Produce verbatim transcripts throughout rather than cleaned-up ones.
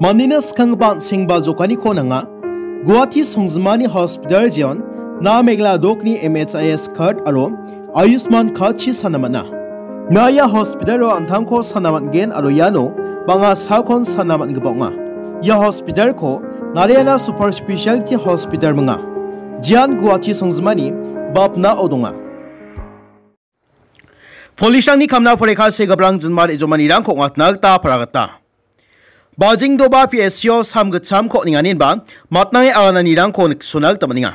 Mandena skanggipa an·sengba jokaniko nanga. Guwahati songjinmani hospital jeon, na Meghalaya dokni M H I S card aro Ayushman card-chi sana man·a. Na ia hospital-o an·tangko sana man·gen aro iano bang·a sakon sana man·gipa ong·a. Ia hospital-ko Narayana Super Specialty Hospital minga. Jeon Guwahati songjinmani bapnao donga. Police-rangni kamna poreka segiparang jinma re·jomanirangko ong·atna gita paragata. Bajengdoba P S C-o sam gitchamko on·enganinba matnange agananirangko niksona gita man·enga.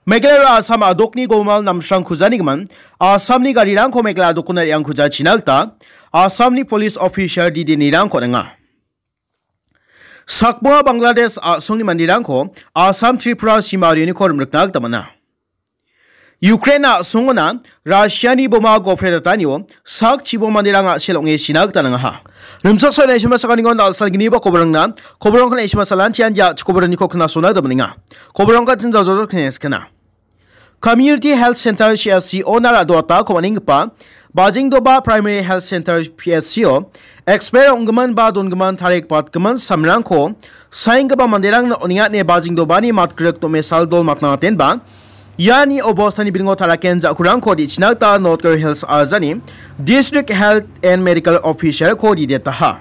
Meghalaya aro Assam a·dokni gomal namsrang kujanigimin Assamni garirangko Meghalaya a·dokona re·angkujachina gita Assamni police officer didenirangko on·enga. Sakbonga Bangladesh a·songni manderangko Assam Tripura sima rioniko rimrikna gita man·a. Ukraine a·songona Russiani boma gopre datanio sak chibo manderang a·sel ong·e sina gita nangaha. Rimchaksoa naisima sakaniko dal·salgniba koborangna koborangko naisima salantian ja chikoboraniko knasona gita man·enga. Koborangka jinjal jojok kneskena. Community Health Center C H C ona ra·doatako man·enggipa Bajengdoba Primary Health Center P H C-o expert ong·gimin ba dongimin tarik patgimin samrangko saenggipa manderangna on·enga ine Bajengdobani matgrik domesal dol matnangatenba iani obostani bilingo taraken ja·kurangko di·china gita North Garo Hills ajani District Health and Medical Officer-ko didetaha.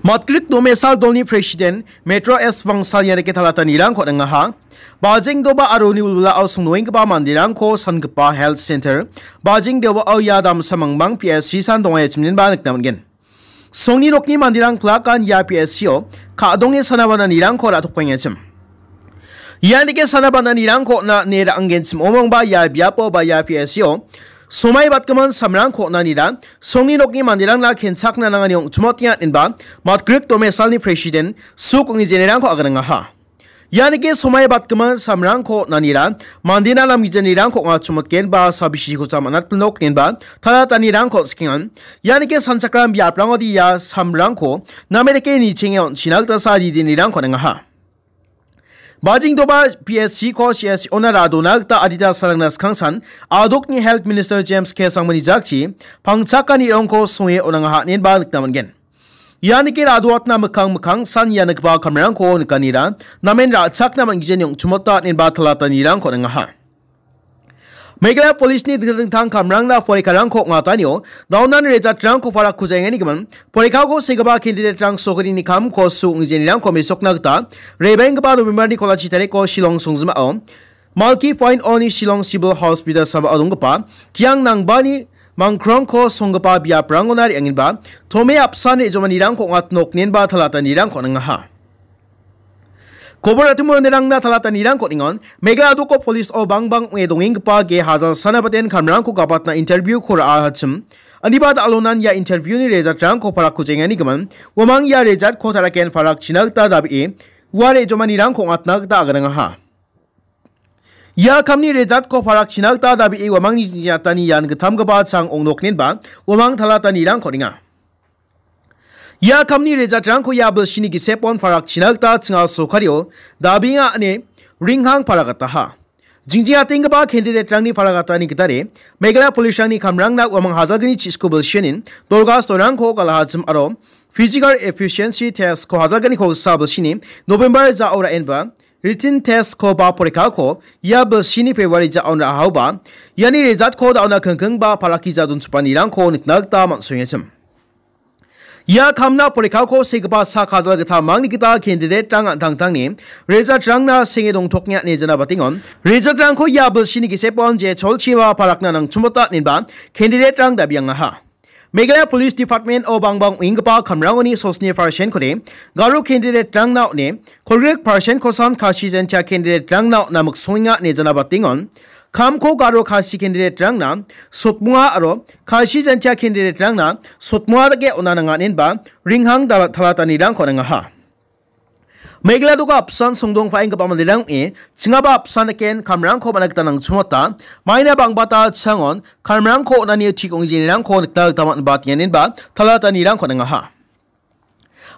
Matgrik domesal dolni President Metro S Bangsal ianike talatanirangko on·engaha. Bajengdoba aro uni wilwilao songdoenggipa manderangko sangipa Health Center Bajengdobao ia damsa mangbang P S C san dongaiachimninba nikna man·gen. Songni nokni manderang plakan ia P S C-o ka·donge sana bananirangko ra·tokbaengachim. Ianike sana bananirangko on·a ine ra·anggenchim omongba ia biapo ba ia P S C-o somai batgimin samrangko on·anira songni nokni manderangna kenchakna nangani ong·chimotenga inba matgrik domesalni President Suk Ong·e jenerangko aganangaha. Ianike somai batgimin samrangko on·anira mandena namgijanirangko ong·achimotgen ba sabisiko jamanatpilnok inba talatanirangko on·sikengan. Ianike sanchakram biaprangode ia samrangko name dake nichenge on·china gita sa didenirangko on·engaha. Bajengdoba P S C-ko C S C-ona ra·dona gita adita salangna skangsan a·dokni Health Minister James K Sangmani jakchi pangchakani rongko songe on·angaha inenba nikna man·gen. Ianike ra·doatna mikkang mikkang san ia nikgipa kamrangko nikanira namen ra·chakna man·gijani ong·chimota inenba talatanirangko on·engaha. Meghalaya Police-ni dingtang dingtang kamrangna porekarangko ong·atanio daonan rejatrangko parakkujaengani gimin porekako segipa candidate-rang sokrini kamko su ong·genirangko mesokna gita rebenggipa November-ni kolachi tariko Shillong songjimao Malki Point O-ni Shillong Civil Hospital sambao donggipa Kiang Nangbani mangkrongko songgipa biaprangona re·angenba tome apsan re·jomanirangko ong·atnok inenba talatanirangko on·engaha. Kobor atimo inerangna talatanirangko ningon, Meghalaya a·doko police-o bangbang ong·e dongenggipa ge hajal sanabaten kamrangko gapatna interview-ko ra·ahachim. Aniba da·alonan ia interview-ni rejatrangko parakkujaengani gimin, uamang ia rejatko taraken parakchina gita dabee, ua re·jomanirangko ong·atna gita aganangaha. Ia kamni rejatko parakchina gita dabee uamangni jingjatani ian gittamgipa chang ong·noknenba, uamang talatanirangko ninga. Ia kamni rejatrangko ia bilsini gisepon parakchina gita chinga sokario dabenga ine ringhang paragataha. Jingjingatenggipa candidate-rangni paragatani gitade Meghalaya police-rangni kamrangna uamang hajalgni chisku bilsinin dolgas dorangko galahachim aro physical efficiency test-ko hajalgniko gisa bilsini November ja·o ra·enba written test-ko ba porekako ia bilsini February ja·on ra·ahaoba iani rejatko da·ona kingkingba parakija donchipanirangko nikna gita man·soengachim. Ia kamna porekako segipa sak hajal gittamangni gita candidate-rang an·tangtangni rejatrangna senge dongtoknga ine janabatengon. Rejatrangko ia bilsini gisepon je cholchiba parakna nangchimota inenba candidate-rang dabiangaha. Meghalaya Police Department-o bangbang ong·enggipa kamrangoni sosni percent-kode Garo candidate-rangna on·e, kolgrik percent-kosan Khasi Jaintia candidate-rangna on·a miksongenga ine janabatengon. Kamko Garo Khasi candidate-rangna sotmonga aro Khasi Jaintia candidate-rangna sotmonga dake on·a nanganenba ringhang dal-, talatanirangko on·engaha. Meghalaya a·doko apsan songdong pa·enggipa manderang ong·e, chingaba apsan dake kamrangko man·a gita nangchimota, maina bangbata changon kamrangko on·ani tik ong·genirangko nikna gita man·ba tenganenba talatanirangko on·engaha.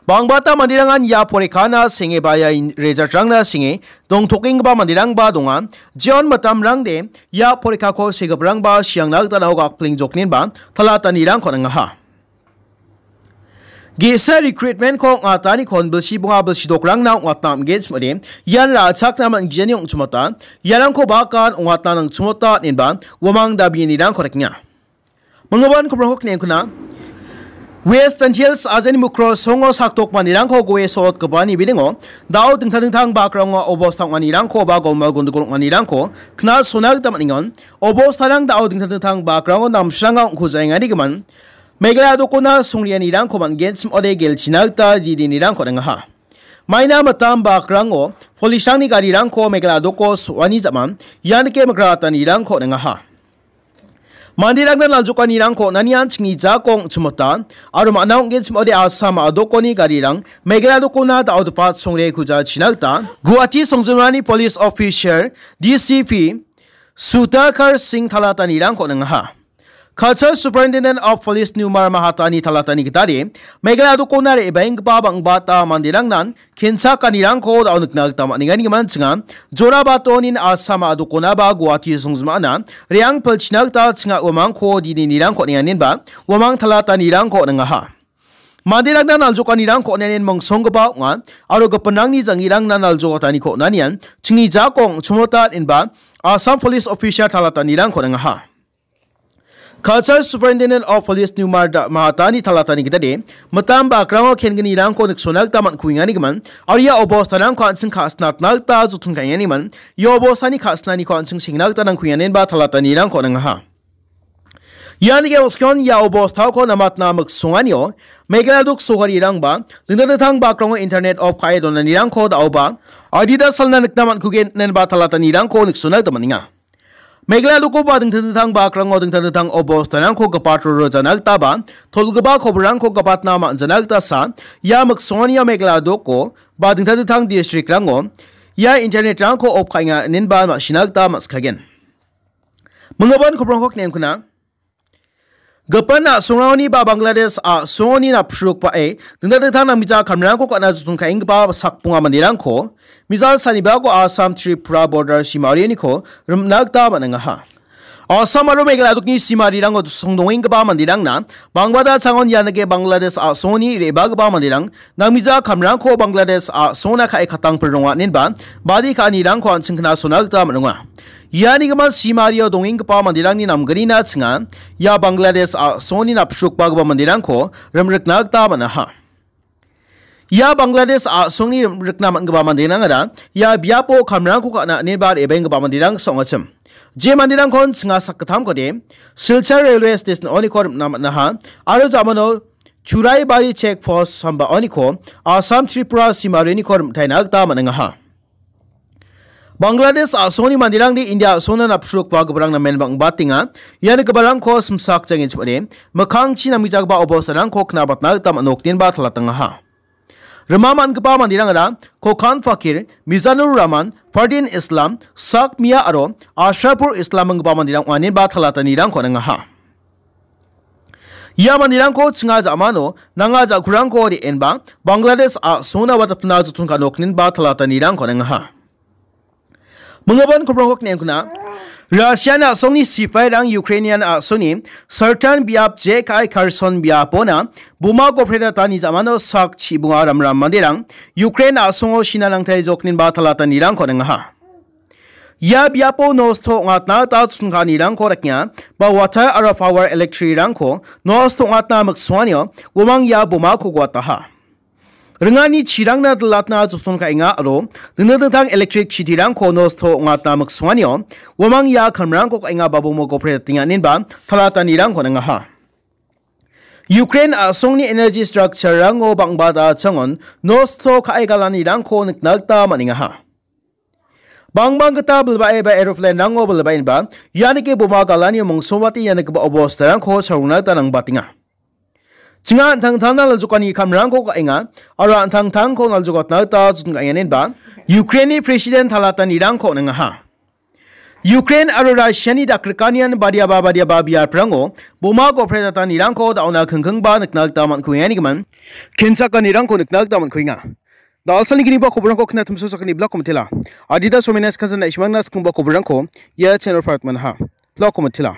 Bangbata manderangan ia porekana senge ba ia in-, rejatrangna senge dongtokenggipa manderangba donga. Jeon mitamrangde ia porekako segiparangba siangna gita nao gakplengjoknenba talatanirangko on·engaha. Ge·sa recruitment-ko ong·atanikon bilsi bonga bilsi dokrangna ong·atna am·gen chim·ode, ian ra·chakna man·gijani ong·chimota, iarangko bakan ong·atna nangchimota inenba, uamang dabienirangko rekenga. Minggipan koprangko kni·engkuna. West Jaintia Hills ajani Mukro songo sakdok manderangko goe so·otgipani bilingo, dao dingtang dingtang bakrango obosta ong·anirangko ba golmal gondogol ong·anirangko kna·sona gita man·engon, obostarang dao dingtang dingtang bakrango namsranga ong·kujaengani gimin, Meghalaya dokona songrianirangko man·gen chim·ode gelchina gita didinirangko on·engaha. Maina mitam bakrango police-rangni garirangko Meghalaya doko so·ani ja·man, ian dike migratanirangko on·engaha. Manderangna naljokanirangko on·anian chingni jako ong·chimota, aro man·a ong·gen chim·ode Assam a·dokoni garirang Meghalaya dokona da·odepat songre kujachina gita Guwahati songjinmani police officer, D C P, Sudhakar Singh talatanirangko on·engaha. Culture Superintendent of Police Numar Mahatani talatani gitade, Meghalaya dokona re·baenggipa bang·bata manderangnan kenchakanirangko da·o nikna gita man·enga ine gimin chinga. Jora batonin Assam a·dokonaba Guwahati songjinmana re·ang pilchina gita chinga uamangko dini nirangko on·enga inenba uamang talatanirangko on·engaha. Manderangna naljokanirangko on·anin mongsonggipa ong·a, aro gipinrangni jang·irangna naljokataniko on·anian chingni jako ong·chimota inenba Assam Police Officer talatanirangko on·engaha. Culture Superintendent of Police Numar da-, Mahatani talatani gitade, mitam bakrango kengenirangko niksona gita man·kuengani gimin, aro ia obostarangko an·ching ka·sinatna gita joton ka·enganiman, ia obostani ka·sinaniko an·ching sengna gita nangkuenganenba talatanirangko on·engaha. Ian ge·oskon ia obostako namatna miksonganio, Meghalaya dok sogarirangba, dingtang dingtang bakrango internet off ka·e donanirangko da·oba, adita salna nikna man·kugen inenba talatanirangko niksona gita man·enga. Meghalaya dokoba dingtang dingtang bakrango dingtang dingtang obostanrangko gipat rorojana gitaba, tolgipa koborrangko gipatna man·jana gita sa, ia miksonganio Meghalaya doko ba dingtang dingtang district-rango ia internet-rangko off ka·enga inenba ma·sina gita ma·sikagen. Minggipan koborrangko kni·engkuna. Gipin a·songrangoni ba Bangladesh a·songoni napsrukbae dingtang dingtang namgija kamrangko ka·na joton ka·enggipa sakbonga manderangko missile sanibako Assam Tripura border simariniko rimna gita man·engaha. Assam aro Meghalaya dokni simarirango songdongenggipa manderangna bangbata changon ianike Bangladesh a·songoni re·bagipa manderang namgija kamrangko Bangladesh a·songna ka·e katang pil ronga inenba badi ka·anirangko an·ching knasona gita man·onga. Iani gimin simario dongenggipa manderangni namgnina chinga ia Bangladesh a·songni napsrukbagipa manderangko rimrikna gita man·aha. Ia Bangladesh a·songni rimrikna man·gipa manderangara ia biapo kamrangko ka·na inenba re·baenggipa manderang ong·achim. Je manderangkon chinga sakgittamkode Silchar Railway Station oniko rimna man·aha aro jamano Churaibari Check Post sambaoniko Assam Tripura simariniko rimtaina gita man·engaha. Bangladesh a·songni manderangni India a·songna napsrukbagiparang namen bang·batenga. Iani giparangko simsak jangin chim·ode, mikkangchi namgijagipa obostarangko knabatna gita man·okdenba talatangaha. Rima man·gipa manderangara Kokan Fakir, Mizanur Rahman, Fardin Islam, Sak Mia aro Ashrafur Islam ong·gipa manderang ong·anenba talatanirangko on·engaha. Ia manderangko chinga ja·mano nanga ja·kurangko re·enba Bangladesh a·songna watapna joton ka·nokninba talatanirangko on·engaha. Minggipan koborrangko kni·engkuna. Russian a·songni sipairang Ukrainian a·songni Sartan biap J K I Kherson biapona boma gopre datani ja·mano sak chibonga ramram manderang Ukraine a·songo sina nangtai jokninba talatanirangko on·engaha. Ia biapo nosto ong·atna gita chonkanirangko rekenga, ba water aro power electric-rangko nosto ong·atna miksonganio uamang ia bomako guataha. Ringani chirangna dilatna joton ka·enga aro dingtang dingtang electric chitirangko nosto ong·atna miksonganio uamang ia kamrangko ka·enga ba bomo gopre datenga inenba talatanirangko on·engaha. Ukraine a·songni energy structure-rango bang·bata changon nosto ka·e galanirangko nikna gita man·engaha. Bangbang gita bilbae ba aeroplane-rango bilbaenba ianike boma galani mongsongbate ianigipa obostarangko salgna gita nangbatenga. Chinga an·tangtangna naljokani kamrangko ka·enga aro an·tangtangko naljokatna gita joton ka·enganenba Ukraine-ni president talatanirangko on·engaha. Ukraine aro Russia-ni dakgrikanian badiaba badiaba biaprango boma gopre datanirangko da·ona kingkingba nikna gita man·kuengani gimin kenchakanirangko nikna gita man·kuenga. Da·alsalni giniba koborangko knatimso sakani blako mitela. Adita somena skansan na·simangna skingba koborangko ia channel part manha. Blako mitela.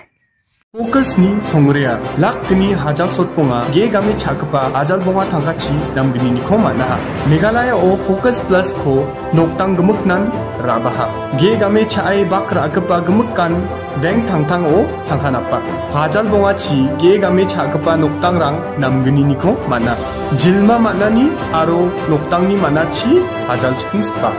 Focus-ni songrea, lak gni hajal sotbonga, ge game cha·gipa hajal bonga tangkachi namgniko man·aha. Meghalayao Focus Plus-ko nokdang gimiknan ra·baha. Ge game cha·e bak ra·gipa gimikan bank tangtango tangka napa. Hajal bongachi ge game cha·gipa nokdangrang namgniko man·a. Jilma man·ani aro nokdangni man·achi hajal chikingsipa.